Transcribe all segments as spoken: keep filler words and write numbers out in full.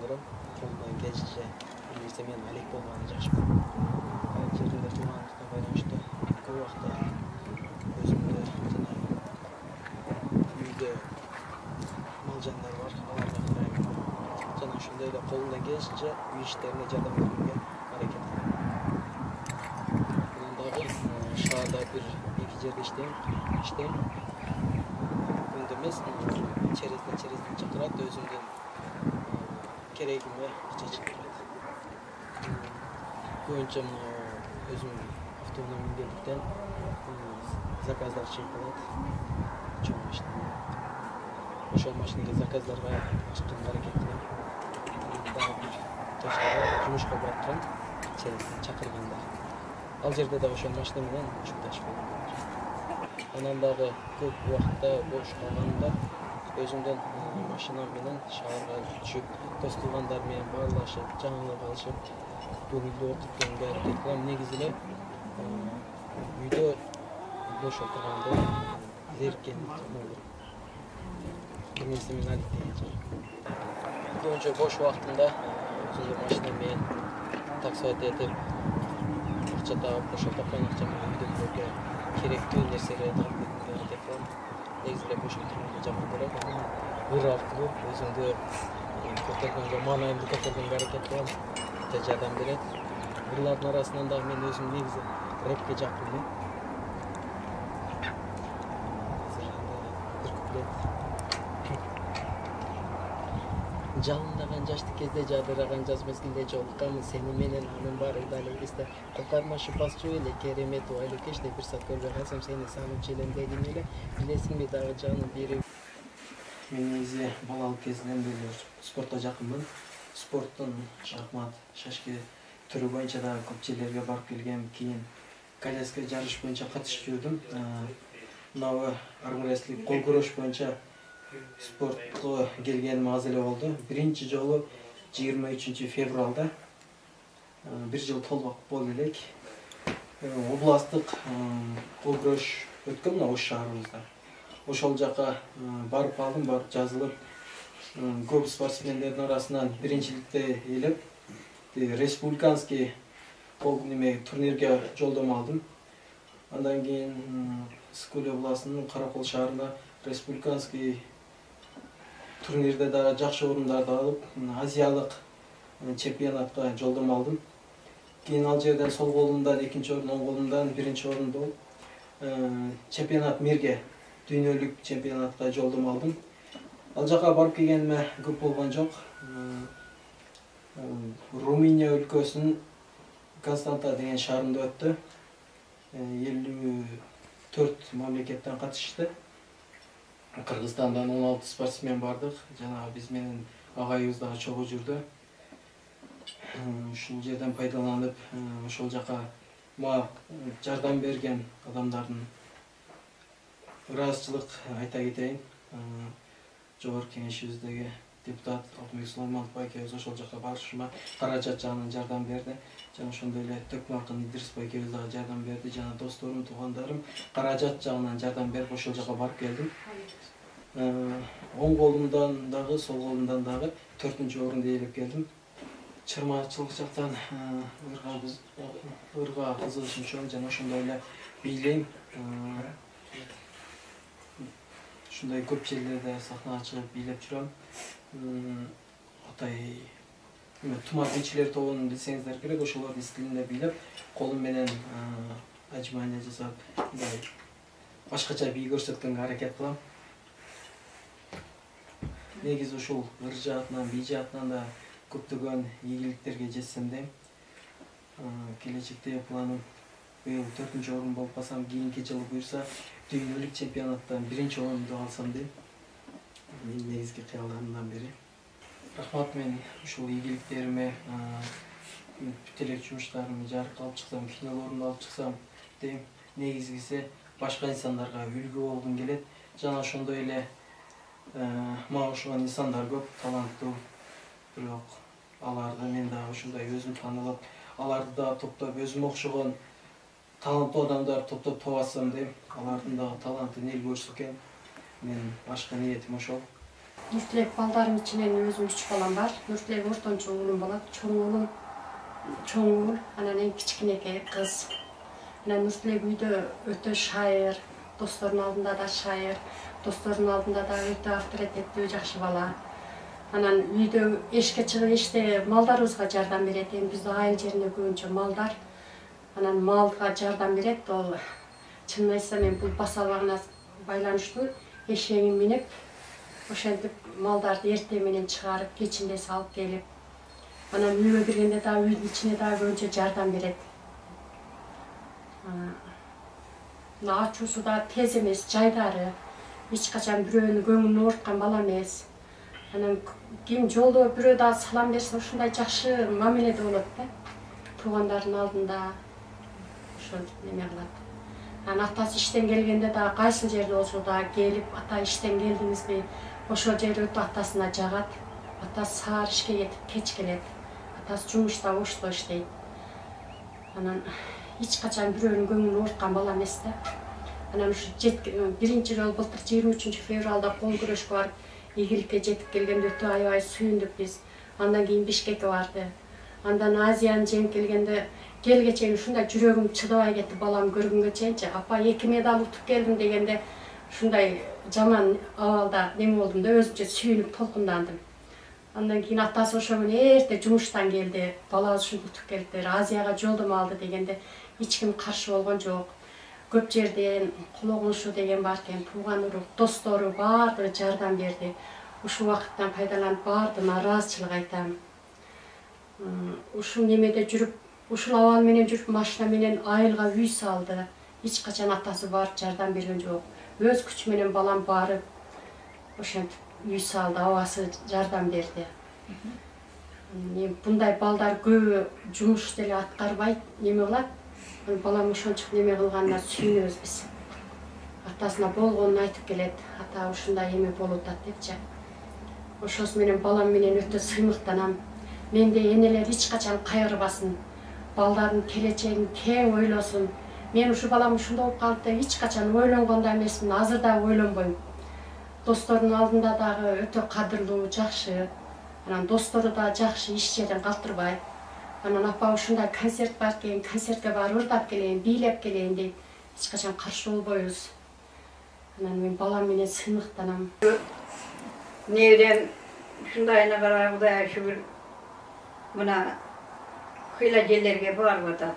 жакындырам. Колумдан келишинче билсе мен алек болгонун жакшы көрөм. Ал жерде туулгандыкка байланыштуу көп убакта өзүмдө жана үйдө мал жандар бар, аларга карайм. Жана ошондой эле колумдан келишинче үй иштерине жардам берүүгө аракет кылам. Анан дагы шаарда бир эки жерде иштейм. Иштейм. Күндө эмес, черезден черезден чакырат, өзүмдүн керегиме акча чыгарат. Көбүнчө өзүм автоунаа мингендиктен заказдар чыгып калат. Чоң машина. Ошол машинеге заказдарга чыкканга аракет кылам. Дагы бир точкага жумушка бараткан черезден чакырганда. Ал жерде дагы ошол машина менен учукташып койгом. Анан дагы көп убакытта бош калганда өзүмдүн машинам менен шаарга түшүп, дос туугандар менен баарлашып, жаңылык алышып, көңүлдүү окуткенге аракет кылам. Негизи эле үйдө бош отурганда зериккенди тукмоо керек. Бир нерсе менен алектенет. Көбүнчө бош убактымда өзүмдүн машинам менен таксовать этип, акча таап, ошол тапкан акча менен үйдөгүлөргө керектүү нерселерди алып кетүүгө аракет кылам. Негизи эле бош отурганды жаман көрөм. Ыр аркылуу өзүмдү көтөргөнгө, маанайымды көтөргөнгө аракет кылам. Өтө жардам берет. Ырлардын арасынан дагы мен өзүм негизи рэпке жакынмын. Бир куплет. Жалындаган жаштык кезде жадыраган жаз мезгилинде жолукканбыз сени менен, анын баары дали эсте. Калкармашып басчу эле керемет айлуу кечте бир саат көрбөй калсам сени сагынчу элем дедим эле. Билесиңби дагы жаным бири. Мен негизи балалык кезинен бери спортко жакынмын. Спорттун шахмат, шашки түрү боюнча дагы көп жерлерге барып келгем. Кийин коляска жарыш боюнча катышып жүрдүм. Мынабы армрестлинг, кол күрөш боюнча спортко келгеним аз эле болду. Биринчи жолу жыйырма үчүнчү февралда бир жыл толмок болду элек. Областтык кол күрөш өткөн мына Ош шаарыбызда. Ошол жака барып калдым, барып жазылып, көп спортсмендердин арасынан биринчиликти ээлеп, республиканский кол неме турнирге жолдомо алдым. Андан кийин Скуле областынын Каракол шаарында республиканский турнирде дагы жакшы орундарды алып, азиялык чемпионатка жолдомо алдым. Кийин ал жерден сол колумдан экинчи орун, оң колумдан биринчи орунду болуп, чемпионат мирге, дүйнөлүк чемпионатка жолдомо алдым. Ал жака барып келгениме көп болгон жок. Румыния өлкөсүнүн Константа деген шаарында өттү. элүү төрт мамлекеттен катышты. Кыргызстандан он алты спортсмен бардык. Жана биз менен агайыбыз дагы чогуу жүрдү. Ушул жерден пайдаланып, ошол жака мага жардам берген адамдардын ыраазычылык айта кетейин. Жогорку кеңешибиздеги депутат Алтынбек Сулайманов байкебиз ошол жака барышыма каражат жагынан жардам берди. Жана ошондой эле Төкмө акын Идрис байкебиз дагы жардам берди. Жана досторум, туугандарым каражат жагынан жардам берип ошол жака барып келдим. Оң колумдан дагы, сол колумдан дагы төртүнчү орунду ээлеп келдим. Чырмачылык жактан ырга биз ырга кызыгышым чоң жана ошондой эле бийлейм. Ушундай көп жерлерде сахнага чыгып бийлеп жүрөм. Атай Тумар бийчилер тобун билсеңиздер керек, ошолордун стилинде бийлеп, колум менен ажмания жасап, мындай башкача бий көрсөткөнгө аракет кылам. Негизи ушул ыр жаатынан, бий жаатынан да көптөгөн ийгиликтерге жетсем дейм. Келечекте планым быйыл төртүнчү орун болуп калсам, кийинки жылы буюрса дүйнөлүк чемпионаттан биринчи орунду алсам дейм. Менин негизги кыялдарымдан бири. Рахмат, мен ушул ийгиликтериме, бүтелек жумуштарымды жарыкка алып чыксам, кинолорумду алып чыксам дейм. Негизгиси башка инсандарга үлгү болгум келет. Жана ошондой эле мага окшогон инсандар көп, таланттуу. Бирок аларды мен дагы ушундай өзүм таанылып, аларды дагы топтоп, өзүмө окшогон таланттуу адамдар топтоп табасам дейм. Алардын дагы талантын эл көрсө экен. Мен башкы ниетим ошол. Нуртилек балдарым ичинен өзүм үч балам бар. Нуртилек ортончу уулум болот. Чоң уулум чоң уул, анан эң кичинекей кыз. Анан Нуртилек үйдө өтө шайыр, досторунун алдында да шайыр, досторунун алдында да өтө авторитеттүү, жакшы бала. Анан үйдө эшикке чыгып эшикте малдарыбызга жардам берет. Эми биздин айыл жеринде көбүнчө малдар. Анан малга жардам берет. Ол чынын айтсам мен бул басаларына байланыштуу эшегин минип, ошентип малдарды эртең менен чыгарып, кечинде салып келип, анан үйгө киргенде да үйдүн ичине да көбүнчө жардам берет. Ачуусу да тез эмес, жайдары. Эч качан бирөөнүн көңүлүн ооруткан бала эмес. Анан ким жолдо бирөө да салам берсе, ушундай жакшы мамиледе болот да. Туугандарынын алдында ошентип неме кылат. Анан атасы иштен келгенде да кайсыл жерде болсо да келип, ата иштен келдиңизби? Ошол жер өтө атасына жагат. Атасы саар ишке кетип, кеч келет. Атасы жумушта ошто иштейт. Анан эч качан бирөөнүн көңүлүн ооруткан бала эмес да. Анан ушу биринчи жолу былтыр жыйырма үчүнчү февралда кол күрөшкө барып, ийгиликке жетип келгенде өтө аябай сүйүндүк биз. Андан кийин Бишкекке барды. Андан Азияны жеңип келгенде келге чейин ушундай жүрөгүм чыдабай кетти балам көргөнгө чейинчи. Апа эки медаль утуп келдим дегенде ушундай жаман абалда неме болдум да, өзүмчө сүйүнүп толкундандым. Андан кийин атасы ошол күнү эрте жумуштан келди. Балабыз ушинтип утуп келиптир, Азияга жолдомо алды дегенде эч ким каршы болгон жок. Көп жерден кулогунушу деген бар экен, тууган урук, достору баардыгы жардам берди. Ушул убакыттан пайдаланып баардыгына ыраазычылык айтам. Ушул немеде жүрүп, ушул абал менен жүрүп, машина менен айылга үй салды. Эч качан атасы барып жардам берген жок. Өз күчү менен балам барып, ошентип үй салды, абасы жардам берди. Мындай балдар көбү жумуш деле аткарбайт, неме кылат. Балам ошончук неме кылганына сүйүнөбүз биз. Атасына болгонун айтып келет. Ата ушундай эме болуп атат депчи. Ошосу менен балам менен өтө сыймыктанам. Менде энелер эч качан кайгырбасын. Балдардын келечегин тең ойлосун. Мен ушу балам ушундай болуп калды деп эч качан ойлонгон да эмесмин, азыр да ойлонбойм. Досторунун алдында дагы өтө кадырлуу, жакшы. Анан достору да жакшы, иш жерин калтырбайт. Анан апа ушундай концерт бар экен, концертке барып ырдап келейин, бийлеп келейин дейт. Эч качан каршы болбойбуз. Анан мен балам менен сыймыктанам. Неберем ушундайына карай Кудайга шүгүр. Мына кыйла жерлерге барып атат.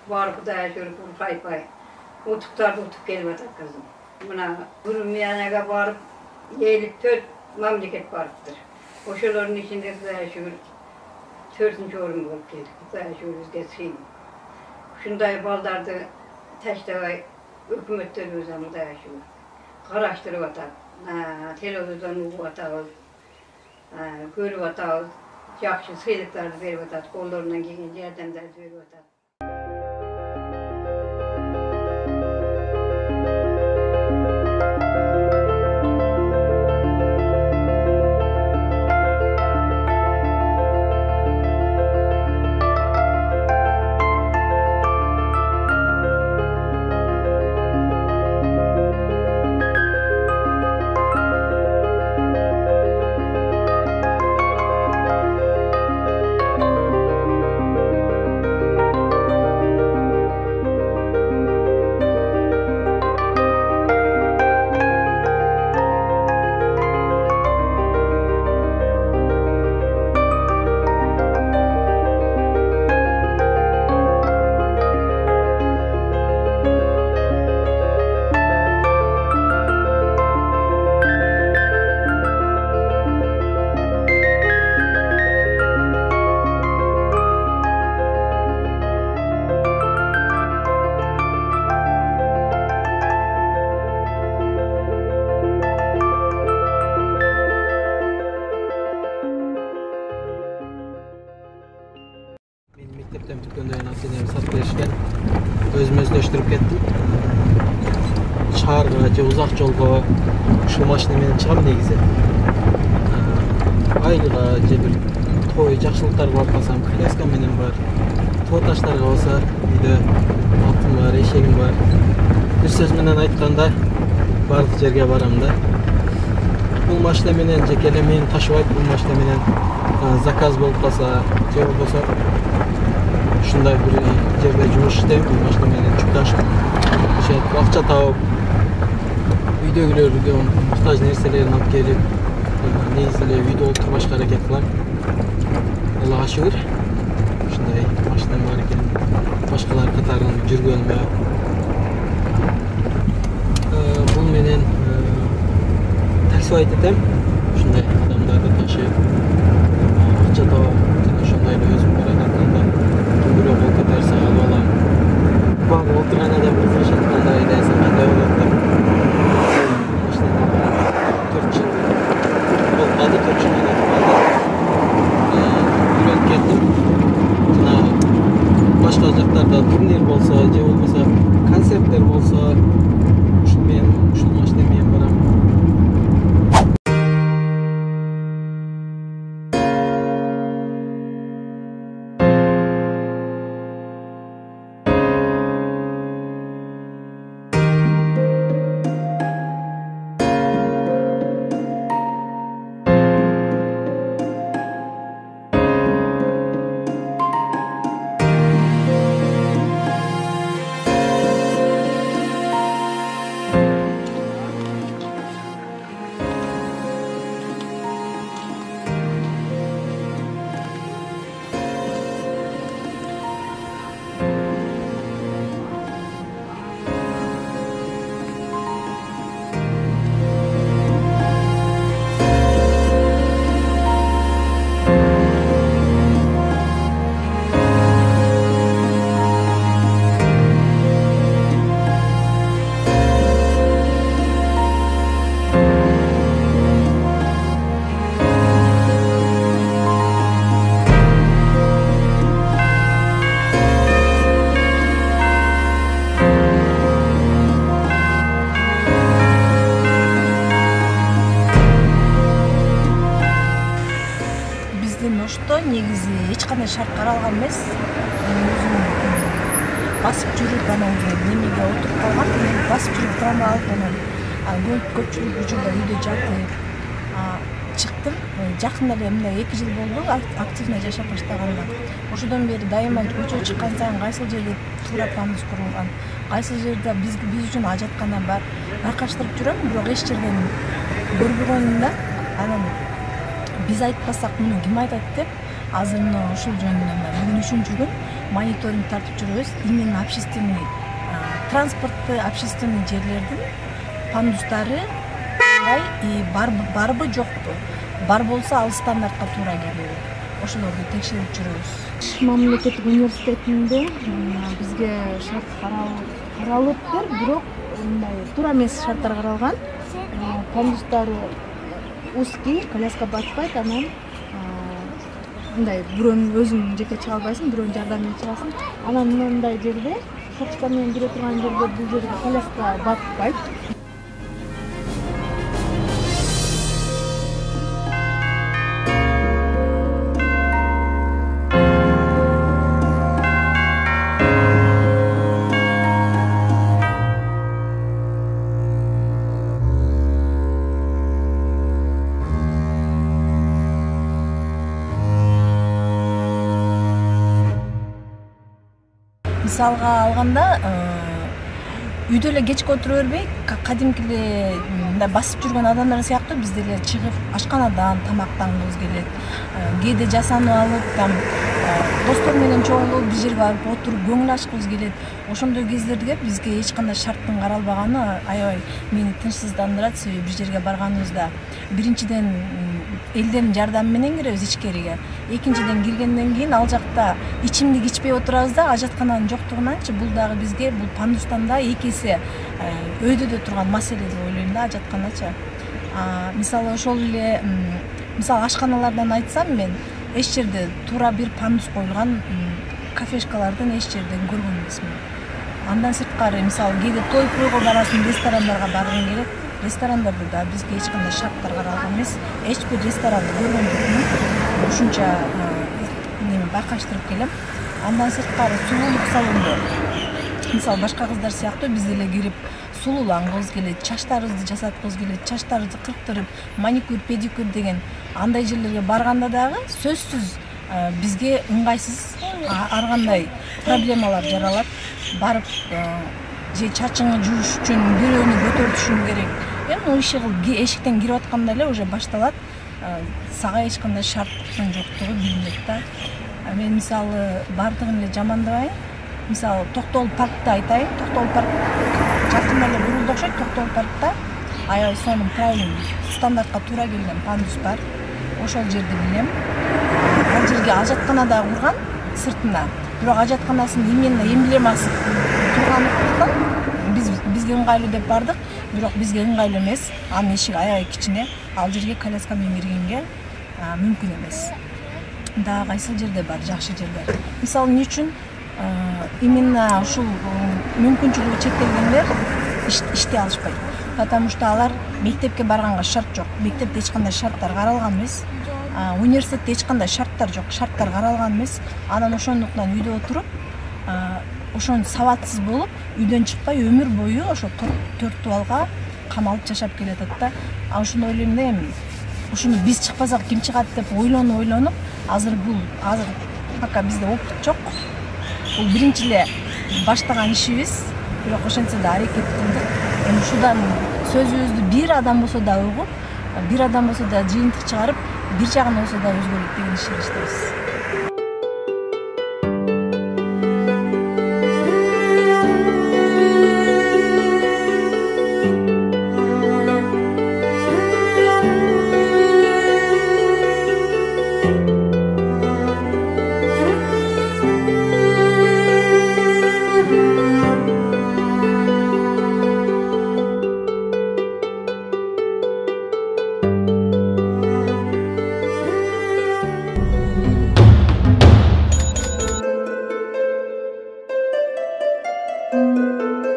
Бар Кудайга шүгүр, куркайпай. Утуктарды утуп келип атат кызым. Мына Гүрмиянага барып, элүү төрт мамлекет барыптыр. Ошолордун ичинде Кудайга шүгүр төртүнчү орун болуп келдик. Кудайга шүгүр бизге сыйын. Ушундай балдарды таштабай өкмөттөрүбүз Кудайга шүгүр караштырып атат. Телевизордон угуп атабыз, көрүп атабыз, жакшы сыйлыктарды берип атат, колдорунан келген жардамдарды берип атат. Mekteптен бүткөндөн кийин ата-энем сатып беришкен. Өзүм өздөштүрүп кеттим. Шаарга же узак жолго ушул машина менен чыгам негизи. Айылга же бир той жакшылыктарга барып калсам, коляска менен бар. Тоо таштарга болсо үйдө атым бар, эшегим бар. Бир сөз менен айтканда бардык жерге барам да. бул машина менен жеке эле мени ташыбайт. Бул машина менен заказ болуп калса, же болбосо ушундай бир жерде жумуш иштейм, бул машина менен жүк ташып, ошентип акча таап, үйдөгүлөргө муктаж нерселерин алып келип, негизи эле үйдө отурбашка аракет кылам. Аллага шүгүр. Ушундай машинам бар экен. Башкалар катарын жүргөнүмө бул менен таксибайт этем. Ушундай адамдарды ташып, акча таап, жана ошондой эле өзүм бара жатканда бирөө болуп кетерсе алып алам. Баары отурган адам кызыгышат, кандай айдайсың, кандай болот деп. төрт жыл болмады, төрт жыл болмады. Үйрөнүп кеттим. Жана башка жактарда турнир болсо, же болбосо концерттер болсо, ушул мен ушул машина менен барам. Негизи эч кандай шарт каралган эмес. Өзүм басып жүрүп анан немеге отуруп калгам, басып жүрүп трамвай алып анан көпчүлүк учурда үйдө жатып чыктым. Жакында эле мындай эки жыл болду активно жашап баштаганга. Ошодон бери дайыма көчөгө чыккан сайын кайсыл жерде туура пандус курулган, кайсыл жерде биз биз үчүн ажаткана бар, байкаштырып жүрөм, бирок эч жерден көрбөгөнүм да. Анан биз айтпасак муну ким айтат деп азыр мына ушул жөнүндө бүгүн үчүнчү күн мониторинг тартып жүрөбүз. Именно общественный транспортты, общественный жерлердин пандустары и барбы жокпу, бар болсо ал стандартка туура келеби, ошолорду текшерип жүрөбүз. Мамлекеттик университетинде бизге шарт каралыптыр, бирок мындай туура эмес шарттар каралган. Пандустары узкий, коляска батпайт, анан мындай бирөөнү өзүң жеке чыга албайсың, бирөөнүн жардамымен чыгасың. Анан мындай жерде, шоқчуктар менен жүрө турган жерде бул жерге коляска батпайт. Мисалга алганда, үйдө эле кечке отура бербей, кадимки эле мындай басып жүргөн адамдар сыяктуу биз деле чыгып ашканадан тамактангыбыз келет. Кээде жасанып алып, там достор менен чогулуп бир жерге барып отуруп көңүл ачкыбыз келет. Ошондой кездерде бизге эч кандай шарттын каралбаганы аябай мени тынчсыздандырат. Себеби бир жерге барганыбызда биринчиден элдердин жардамы менен киребиз ичкериге. Экинчиден киргенден кийин ал жакта ичимдик ичпей отурабыз да, ажаткананын жоктугунанчы бул дагы бизге бул пандустан да эки эсе өйдөдө турган маселе деп ойлойм да, ажатканачы. Мисалы ошол эле мисалы ашканалардан айтсам, мен эч жерде туура бир пандус коюлган кафешкалардын эч жерден көргөн эмесмин. Андан сырткары мисалы кээде той тойго барасың, ресторандарга баргың келет. Ресторандарда да бизге эч кандай шарттар каралган эмес. Эч бир ресторанды көргөн жокмун. Ушунча неме байкаштырып келем. Андан сырткары сулуулук салондо мисалы башка кыздар сыяктуу биз деле кирип сулуулангыбыз келет, чачтарыбызды жасаткыбыз келет, чачтарыбызды кырктырып, маникюр, педикюр деген андай жерлерге барганда дагы сөзсүз бизге ыңгайсыз ар кандай проблемалар жаралат. Барып же чачыңы жууш үчүн бирөөнү көтөртүшүң керек. Эми иши эшиктен кирип атканда эле уже башталат. Сага эч кандай шарттын жоктугу билинет да. Мен мисалы бардыгын эле жамандабайм. Мисалы Токтогул паркты айтайын. Токтогул парк жакында эле курулду окшойт. Токтогул паркта аябай сонун правильный стандартка туура келген пандус бар. Ошол жерди билем. Ал жерге ажаткана да курган сыртына. Бирок ажатканасын именно эмблемасы тургандыктан биз бизге ыңгайлуу деп бардык. Бирок бизге ыңгайлуу эмес. Анын эшиги аябай кичине. Ал жерге коляска менен киргенге мүмкүн эмес. Дагы кайсыл жерде бар жакшы жерлер. Мисалы эмне үчүн именно ушул мүмкүнчүлүгү чектелгендер иштей алышпайт. Потому что алар мектепке барганга шарт жок. Мектепте эч кандай шарттар каралган эмес. Университетте эч кандай шарттар жок. Шарттар каралган эмес. Анан ошондуктан үйдө отуруп, ошон сабатсыз болуп, үйдөн чыкпай өмүр бою ошо төрт дубалга камалып жашап келатат да. А ушуну ойлойм да эми. Ушуну биз чыкпасак ким чыгат деп ойлонуп ойлонуп, азыр бул азыр пока бизде опыт жок. Бул биринчи эле баштаган ишибиз, бирок ошентсе да аракет кылдык. Эми ушудан сөзүбүздү бир адам болсо да угуп, бир адам болсо да жыйынтык чыгарып, бир жагын болсо да өзгөрөт деген ишти иштейбиз. Thank you.